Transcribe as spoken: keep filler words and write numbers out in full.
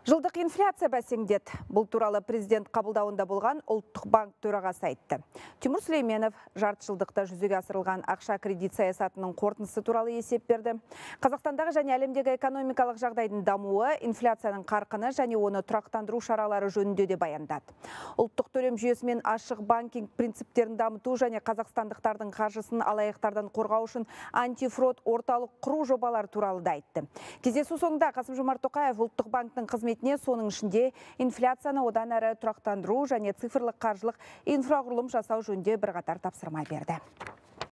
Жылдық инфляция бәсеңдет. Бұл туралы президент қабылдауында болған ұлттық банк төрағасы айтты. Тимур Сүлейменов жарты жылдықта жүзеге асырылған ақша кредит саясатының қорытындысы туралы есеп берді. Қазақстандағы және әлемдегі экономикалық жағдайдың дамуы, инфляцияның қарқыны және оны тұрақтандыру шаралары жөнінде де баяндады. Ұлттық төлем жүйесі мен ашық банкинг принциптерін дамыту және қазақстандықтардың қаржысын алаяқтардан қорғау үшін антифрод орталық құру жобалары туралы да айтты. Кездесу соңында Қасым-Жомарт Тоқаев ұлттық банктың қызметіне соның ішінде инфляцияны одан әрі тұрақтандыру және цифрлық қаржылық инфрақұрылым жасау жөнінде бірқатар тапсырма берді.